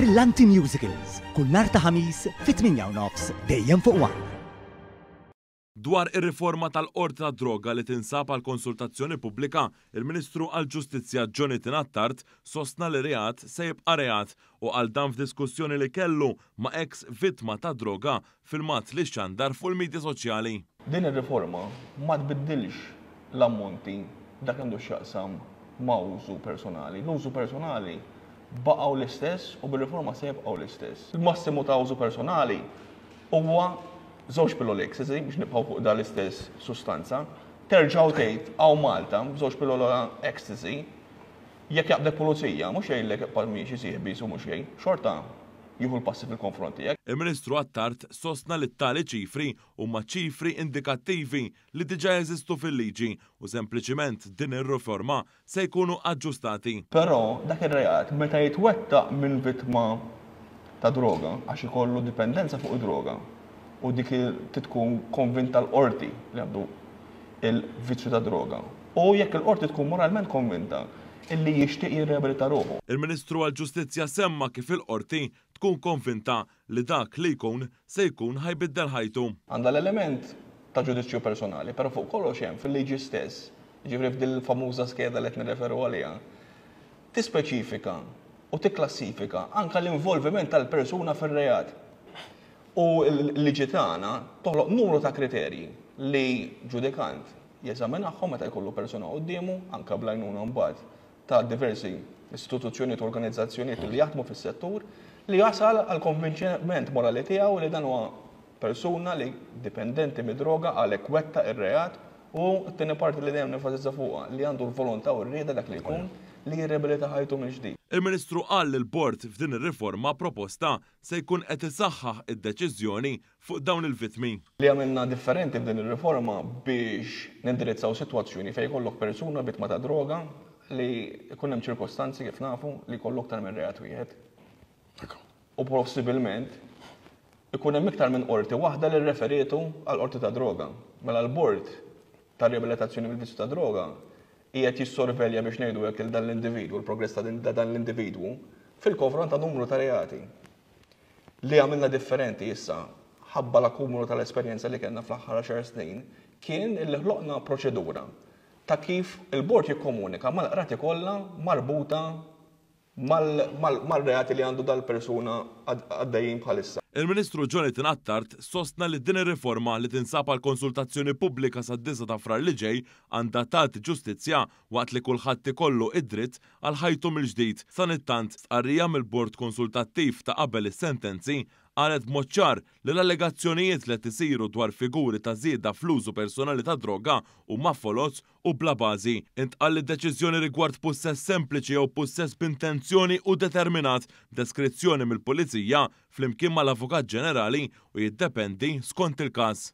Brillanti Musicals, kull nhar ta' Ħamis fit-8 u nofs dejjem fuq One. Dwar ir-riforma tal-Qorti tad-Droga li tinsab għal konsultazzjoni pubblika, il-Ministru għall-Ġustizzja Jonathan Attard sostna li reat se jibqa' reat u qal dan f'diskussjoni li kellu ma' eks vittma tad-droga f'filmat li xxandar fuq il-midja soċjali. Din ir-riforma ma tbiddilx l-ammonti f'dak li għandu x'jaqsam ma' użu personali. L-użu personali baqgħu l-istess u bir-riforma se jibqgħu l-istess. Il-massimu ta' użu personali huwa żewġ pilloli ecstasy biex nibqgħu fuq dan l-istess sustanza. Terġa' u tgħid hawn Malta b'żewġ pillola ecstasy jekk jaqbdek pulizija mhux jgħidlek ibqa' miexi sieħbi u mhux xejn, xorta jieħu l-passi fil-konfront tiegħek. Il-Ministru Attard sostna li t-tali ċifri huma ċifri indikattivi li diġà jeżistu fil-liġi u sempliċiment din ir-riforma se jkunu aġġustati. Però dak ir-reat meta jitwettaq minn vittma ta' droga għax ikollu dipendenza fuq id-droga u dik trid tkun konvinta l-qorti li għandu il-vizzju tad-droga u jekk il-qorti tkun moralment konvinta illi jixtieq jirriabilita ruħu. Il-Ministru għall-Ġustizzja semma kif il-qorti tkun konvinta li dak li jkun se jkun ħa jbiddel ħajtu. Għandha l-element ta' ġudizzju personali, però fuq kollox hemm fil-liġi stess, jiġifieri f'din il-famuża skeda li qed nirreferu għaliha, tispeċifika u tikklassifika anke l-involviment tal-persuna fir-reat. U l-liġi tagħna toħloq numru ta' kriterji li ġudikant jeżaminahom meta jkollu persuna quddiemu, anke bl-għajnuna mbagħad ta' diversi istituzzjonijiet u organizzazzjonijiet li jaħdmu fis-settur, li jasal għall-konvinċiment morali tiegħu li dan huwa persuna li dipendenti mid-droga għalhekk wettaq ir-reat u t-tieni parti li dejjem nenfasizza fuqha li għandu l-volontà u r-rieda dak li jkun li jirriabilita ħajtu mill-ġdid. Il-Ministru qal li l-Bord f'din ir-riforma proposta se jkun qed isaħħaħ id-deċiżjoni fuq dawn il-vittmi. Li għamilna differenti f'din ir-riforma biex nindirizzaw sitwazzjoni fejn jkollok persuna vittma ta' droga li jkun hemm ċirkostanzi kif nafu li jkollu aktar minn reat wieħed. U possibilment ikun hemm iktar minn qorti waħda li rreferietu għal qorti ta' droga. Mela l-bord ta' riabilitazzjoni mill-vizzju ta' droga qiegħed jissorvelja biex ngħidu hekk lil dan l-individwu, l-progress ta' dan l-individwu fil-konfront ta' numru ta' reati. Li għamilna differenti issa, ħabba l-akkumulu tal-esperjenza li kellna fl-aħħar għaxar snin, kien illi ħloqna proċedura ta' kif il-bord jikkomunika mal-qrati kollha marbuta mal-reati li għandu dal-persuna għaddejjin bħalissa. Il-Ministru Jonathan Attard sostna li din ir-riforma li tinsab għal konsultazzjoni pubblika sad-disgħa ta' Frar li ġej għandha tagħti ġustizzja waqt li kulħadd ikollu id-dritt għal ħajtu mill-ġdid. Sanittant, stqarrija mill-Bord Konsultattiv ta' qabel is-sentenzi qalet b'mod ċar li l-allegazzjonijiet li qed isiru dwar figuri ta' żieda fl-użu personali tad-droga huma foloz u bla bażi. Intqal li d-deċiżjoni rigward pussess sempliċi jew pussess b'intenzjoni hu determinat b'deskrizzjoni mill-Pulizija flimkien mal-Avukat Ġenerali u jiddependi skont il-każ.